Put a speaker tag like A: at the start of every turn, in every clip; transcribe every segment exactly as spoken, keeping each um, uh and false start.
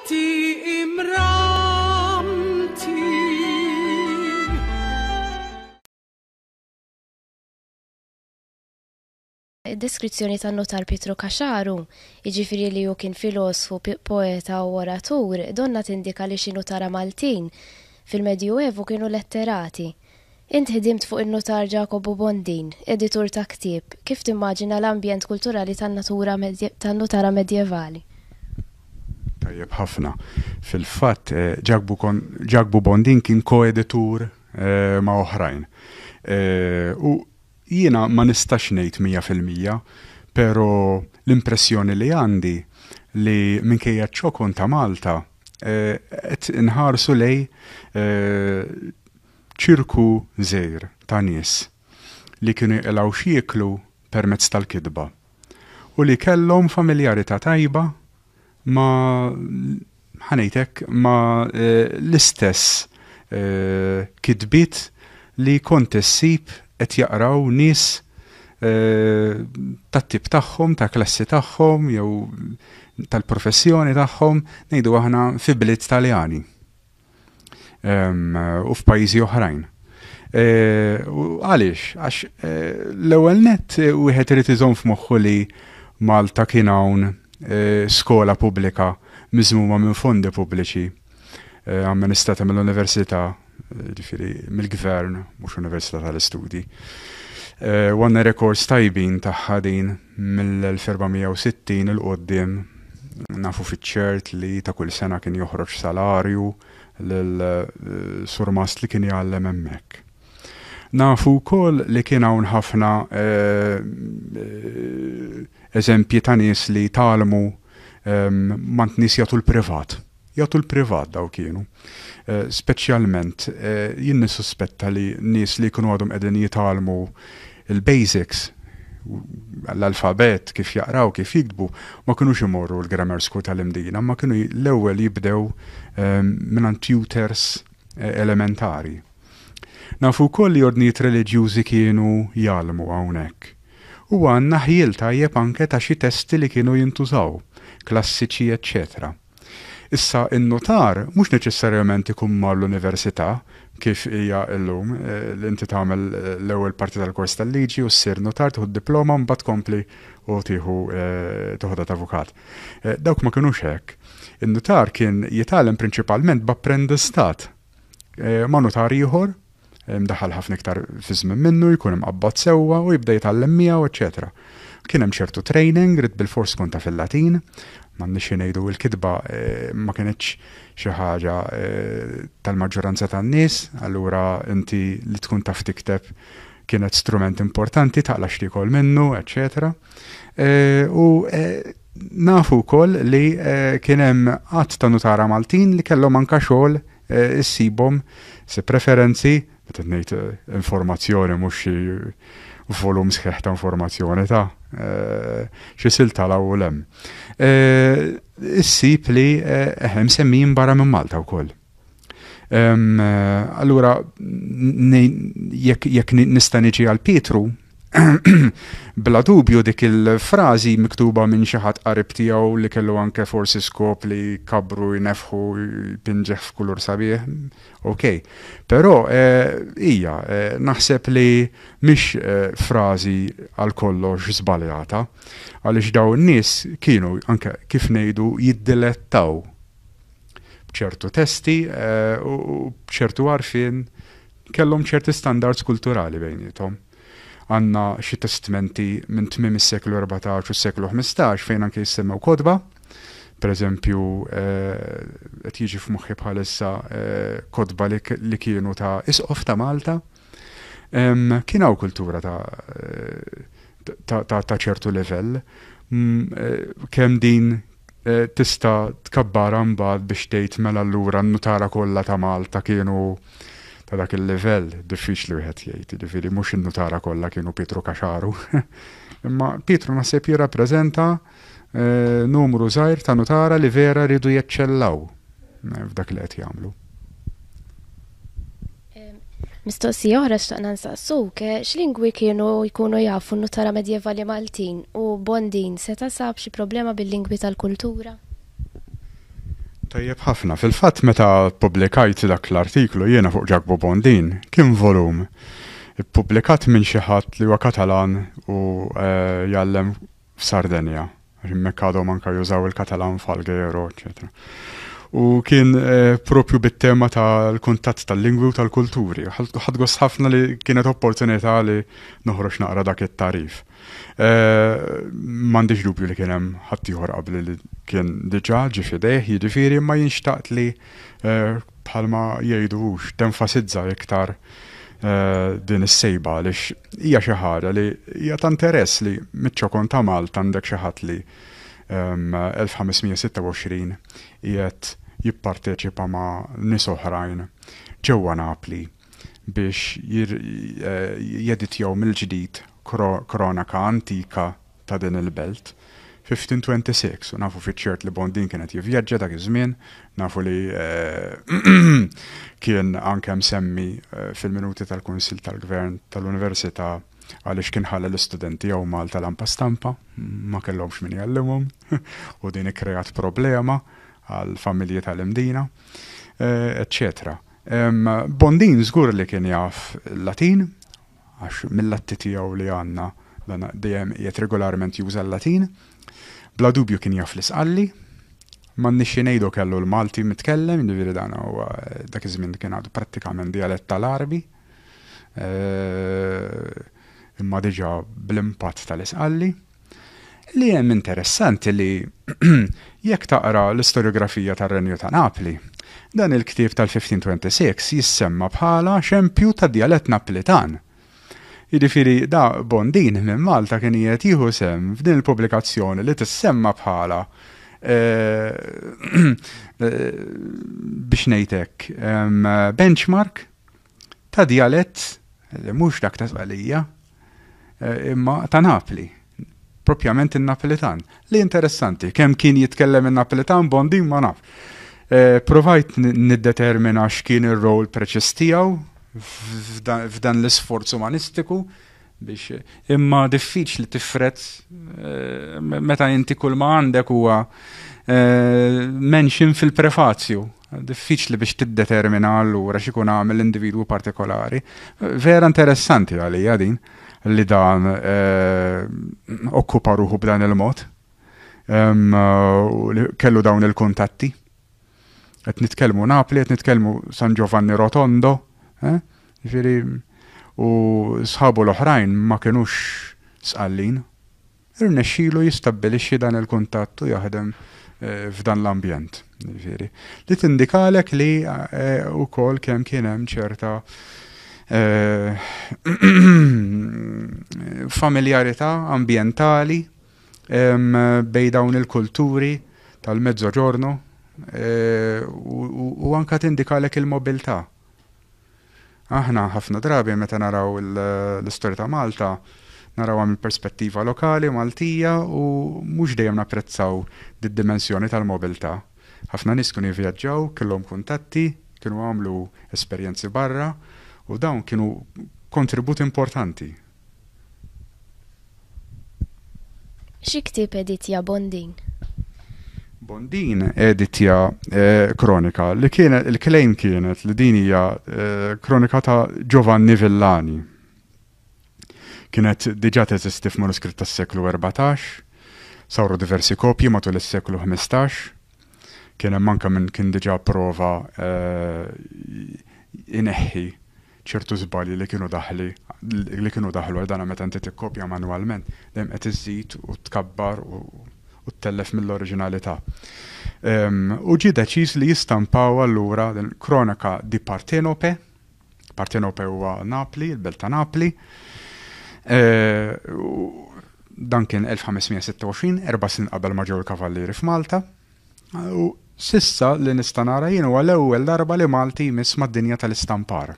A: Ti imramti.
B: Id-deskrizzjoni tan-nutar Pietru Caxaru, jiġifieri li hu kien filosfu, poeta u oratur, donnha tindika li xi nutara Maltin fil-Medjuevu kienu letterati. Int ħdimt fuq in-nutar Ġakobu Bondin, editur ta' ktieb. Kif timmaġina l-ambjent kulturali tan-natura tan-nutara medjevali?
C: Tajjeb ħafna. Fil-fatt, Ġakbu Bondin kien koeditur ma' oħrajn. U jiena ma nistax ngħid mija fil-mija, però l-impressjoni li għandi li minkejja ċ-ċokon ta' Malta qed inħarsu lej ċirku żgħir ta' nies li kienu jqilgħu x'jieklu permezz tal-kitba u li kellhom familjarità tajba ma' ħanejtek ma' l-istess kitbiet li kont issib qed jaqraw nies tat-tip tagħhom, ta' klassi tagħhom jew tal-professjoni tagħhom, ngħidu aħna fi bliet Taljani u f'pajjiżi oħrajn. U għaliex? Għax l-ewwel nett wieħed irid iżomm f'moħħu li Malta kien hawn skola pubblika miżmuma minn fondi pubbliċi amministrata mill-università, ġifieri mill-gvern, mhux Università tal-Istudji. U għandna rekords tajbin tagħha din mill-elf erba' mija u sittin il-qoddim, nafu fiċ-ċert li ta' kull sena kien joħroġ salarju lil surmast li kien jgħallem hemmhekk. Nafu wkoll li kien hawn ħafna eżempji ta' nies li tgħallmu mant nies jagħtu l-privat. Jagħtu l-privat daw kienu. Speċjalment jien nissuspetta li nies li jkunu għadhom qegħdin jitgħallmu il-basics, l-alfabet, kif jaqraw, kif jiktbu, ma kinux imorru l-grammar school tal-Imdina, ma kienu l-ewwel jibdew mingħand tutors elementari. Nafu wkoll li ordnijiet reliġjużi kienu jgħallmu hawnhekk. U għandna ħjiel tajjeb anke ta' xi testi li kienu jintużaw, klassiċi, eċċetera. Issa in-notar mhux neċessarjament ikun mar l-università kif hija llum, li inti tagħmel l-ewwel parti tal-kors tal-liġi u ssir notar, tieħu d-diploma mbagħad tkompli u tieħu toħodha ta' avukat. Dawk ma kinux hekk. In-notar kien jitgħallem prinċipalment b'apprendistat ma' notar ieħor, mdaħħal ħafna iktar fi żmien minnu, jkun imqabbad sewwa u jibda jitgħallem miegħu, eċċetera. Kien hemm ċertu training, rid bilfors tkun taf il-Latin, m'għandniex xi ngħidu l-kitba ma kinitx xi ħaġa tal-maġġoranza tan-nies, allura inti li tkun taf tikteb kienet strument importanti, taqla' x'tiekol minnu, eċċetera. U nafu wkoll li kien hemm għadd ta' nutara Maltin li kellhom anke xogħol issibhom se preferenzi, meta ngħid informazzjoni mhux xi volum sħiħ ta' informazzjoni ta' xi silta l u lem. Issib li hemm semmijin barra minn Malta wkoll. Allura jekk nista' niġi għal Pietru, bla dubju dik il-frażi miktuba minn xi ħadd qarib tiegħu li kellu anke forsi skop li kabru jnefħu jpinġeħ f'kulur sabiħ, ok. Però hija naħseb li mhix frażi għal kollox żbaljata, għaliex dawn in-nies kienu anke kif ngħidu jiddilettaw b'ċertu testi u b'ċertu għarfien kellhom ċerti standards kulturali bejniethom. Għandna xi testmenti minn tmiem is-seklu erbatax u s-seklu ħmistax fejn anke jissemmew kotba. Per eżempju, qed jiġi f'moħħi bħalissa kotba li kienu ta' Isqof ta' Malta. Kien hawn kultura ta' ċertu livell. Kemm din tista' tkabbara mbagħad biex tgħid mela allura n-nutara kollha ta' Malta kienu ta' dak il-livell, diffiċli wieħed jgħid, jiġifieri mhux in-nutara kollha kienu Pietru Caxaru. Imma Pietru naħseb jirrappreżenta numru żgħir ta' nutara li vera rridu jeċċellaw f'dak li qed jagħmlu.
B: Mistoqsija oħra xtaqna nsaqsuk, x'lingwi kienu jkunu jafu n-nutara medjevali Maltin u Bondin seta' sab xi problema bil-lingwi tal-kultura?
C: Tajjeb ħafna. Fil-fatt meta ppubblikajt dak l-artiklu jiena fuq Ġakbu Bondin, kien volum ippubblikat minn xi ħadd li huwa Katalan u eh, jgħallem f'Sardenja. Għax hemmhekk għadhom anke jużaw il-Katalan f'Alghero, eċetera. U kien eh, propju bit-tema tal-kuntatt tal-lingwi u tal-kulturi. Ħadt gost ħafna li kienet opportunità li noħroġ naqra dak it-tarif. Eh, m'għandix dubju li kien hemm ħaddieħor qabli li kien diġà ġie f'idejh, jiġifieri imma jien xtaqt li eh, bħalma jgħidu tenfasizza iktar din is-sejba għaliex hija xi ħaġa li hija ta' interess li miċ-ċokon ta' Malta għandek xi ħadd li elf ħames mija sitta u għoxrin qiegħed jipparteċipa ma' nies oħrajn ġewwa Napli biex jeditjaw mill-ġdid kronaka antika ta' din il-belt. fifteen twenty-six, u nafu fiċ-ċert li Bondin kienet jivvjaġġa dak iż-żmien, nafu li kien anke msemmi fil-minuti tal-Kunsill tal-Gvern tal-Università għaliex kien ħalla l-istudenti jew Malta lampa stampa, ma kellhomx min jgħallimhom, u din ikkreat problema għal familji tal-Imdina, eċċetera. Bondin żgur li kien jaf il-Latin, għax mill-atti tiegħu li għandna dan dejjem qiegħed regolarment juża l-Latin. Bla dubju kien jaf l-Isqalli, m'għandniex xi ngħidu kellu l-Malti mitkellem, jiġifieri dan huwa dak iż-żmien kien għadu prattikament dialett tal-Għarbi, imma diġà bl-impatt tal-Isqalli. Li hemm interessanti li jekk taqra l-istoriografija tar-Renju ta' Napli, dan il-ktieb tal-fifteen twenty-six jissemma bħala xempju ta' dialett Naplitan. Jiġifieri da Bondin minn Malta kien qiegħed jieħu sehem f'din il-pubblikazzjoni li tissemma bħala, eh, biex ngħid hekk, em, benchmark ta' dialett li mhux dak ta' Sqallija, eh, imma ta' Napli, propjament in-Napolitan. Li interessanti, kemm kien jitkellem in-Napolitan Bondin ma naf. Eh, provajt niddetermina x'kien ir-rol preċiż tiegħu f'dan, f'dan l-isforz umanistiku biex imma diffiċli tifret, eh, meta inti kull ma għandek huwa, eh, mention fil-prefazju. Diffiċli biex tiddetermina allura x'ikun għamel l-individwu partikolari. Vera interessanti għalija din li dan, eh, okkupa ruħu b'dan il-mod. Em, u li kellu dawn il-kuntatti. Qed nitkellmu Napli, qed nitkellmu San Giovanni Rotondo, eh? Ġifieri, u sħabu l-oħrajn ma kinux Sqallin. Irnexxielu jistabbilixxi dan il-kuntatt u jaħdem, eh, f'dan l-ambjent. Ġifieri, li tindikalek li, eh, ukoll kemm kien hemm ċerta, eh, familjarità ambjentali, em, bejn dawn il-kulturi tal-Mezzoġorno, eh, u, u, u anka tindikalek il-mobilità. Aħna ħafna drabi meta naraw il-, l-istorja ta' Malta, narawha mill perspettiva lokali Maltija u mhux dejjem napprezzaw d-dimensjoni tal-mobilità. Ħafna nies kienu jivvjaġġaw, kellhom kuntatti, kienu għamlu esperjenzi barra u dawn kienu kontribut importanti.
B: Xi ktieb editja Bondin?
C: Bondin editja, eh, kronika li kienet, il-claim kienet li din hija, eh, kronika ta' Giovanni Villani. Kienet diġà teżisti f'manuskritt tas-seklu erbatax, saru diversi kopji matul is-seklu ħmistax, kien hemm anke min kien diġà prova, eh, ineħħi ċertu żbalji li kienu daħli, li kienu daħlu għal dana meta inti tikkopja manwalment, dejjem qed iżżid u tkabbar u, u ttellef mill-oriġinalità. Em, u ġie deċiż li jistampaw allura din Kronika di Partenope. Partenope huwa Napli, il-belt ta' Napli. Eh, u dan kien elf ħames mija sitta u għoxrin, erba' snin qabel ma ġew il-Kavallieri f'Malta. U sissa li nista' nara jien huwa l-ewwel darba li Malti jmiss mad-dinja tal-istampar.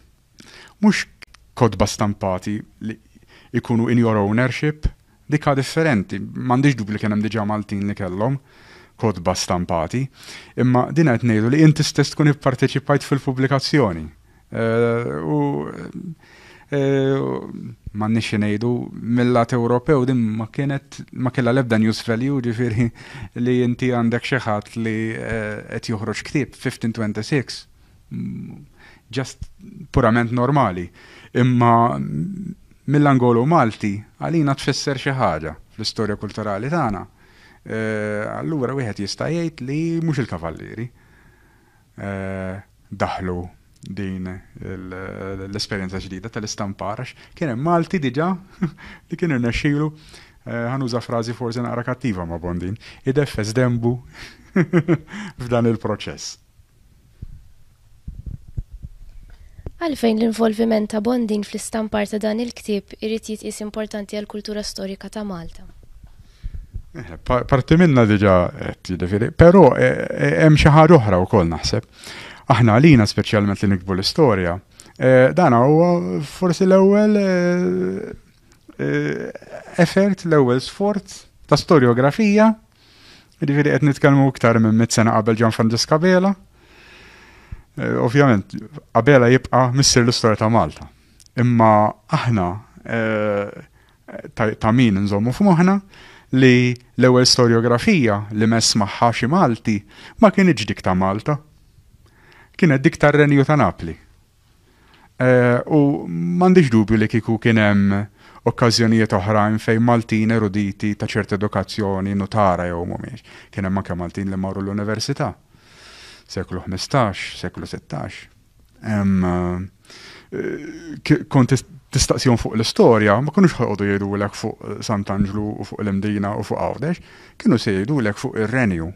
C: Mhux kotba stampati li ikunu in your ownership, dika differenti, m'għandix dubju li kien hemm diġà Maltin li kellhom kotba stampati, imma din qed ngħidu li inti stess tkun ipparteċipajt fil-pubblikazzjoni. Eh, u M'għandniex xi ngħidu, mill-lat Ewropew din ma kienet ma kellha l-ebda news value, ġifieri li inti għandek xi ħadd li qed joħroġ ktieb fifteen twenty-six, just purament normali. Imma mill-angolu Malti għalina tfisser xi ħaġa fl-istorja kulturali tagħna. Allura wieħed jista' jgħid li mhux il-kavallieri daħlu din l-esperjenza ġdida tal-istampar, għax kien hemm Malti diġà li kien irnexxielu, ħa nuża frażi forsi naqra kattiva ma' Bondin, ideffes dembu f'dan il-proċess.
B: Għalfejn l-involviment ta' Bondin fl-istampar ta' dan il-ktieb irid jitqies importanti għall-kultura storika ta' Malta?
C: Parti minna diġà qed jiġifieri, però hemm xi ħaġa oħra wkoll naħseb. Aħna għalina speċjalment li nikbu l-istorja, dan huwa forsi l-ewwel effort, l-ewwel sforz ta' storjografija, jiġifieri qed nitkellmu iktar minn mitt sena qabel Ġan Franġisk Abela. Ovvjament, Abela jibqa' missier l-istorja ta' Malta. Imma aħna ta' min nżommu f'moħħna li l-ewwel storjografija li mess magħha xi Malti ma kienx dik ta' Malta. Kienet dik tar-Renju ta' Napli. U m'għandix dubju li kieku kien hemm okkażjonijiet oħrajn fejn Maltin eruditi ta' ċerta edukazzjoni nutara jew mhumiex. Kien hemm anke Maltin li marru l-università. Seklu ħmistax, seklu sittax. Kont tistaqsihom fuq l-istorja, ma kinux ħa joqogħdu jgħidulek fuq Sant'Anġlu u fuq l-Imdina u fuq Għawdex, kienu se jgħidulek fuq ir-Renju.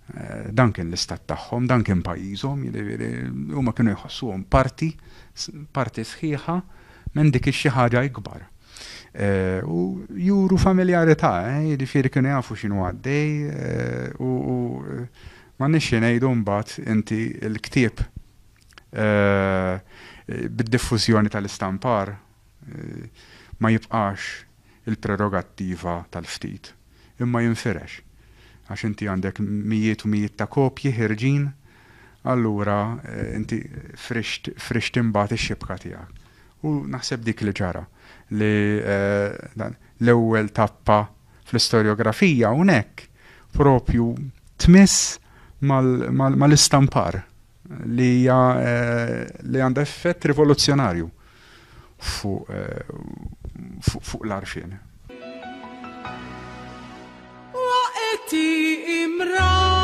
C: Dan kien l-istat tagħhom, dan kien pajjiżhom, jiġifieri huma kienu jħossuhom parti, parti sħiħa minn dik xi ħaġa ikbar. U juru familjarità, jiġifieri kienu jafu x'inhu għaddej, u m'għandniex xi ngħidu mbagħad inti l-ktieb bid-diffużjoni tal-istampar ma jibqax il-prerogattiva tal-ftit, imma jinfirex. Għax inti għandek mijiet u mijiet ta' kopji ħirġin, allura inti frixt frixt imbagħad ix-xibka tiegħek. U naħseb dik li ġara li l-ewwel tappa fl-istorjografija hawnhekk propju tmiss mal-istampar li hija li għandha effett rivoluzzjonarju fuq fuq l-għarfien.
A: Waqti imrar.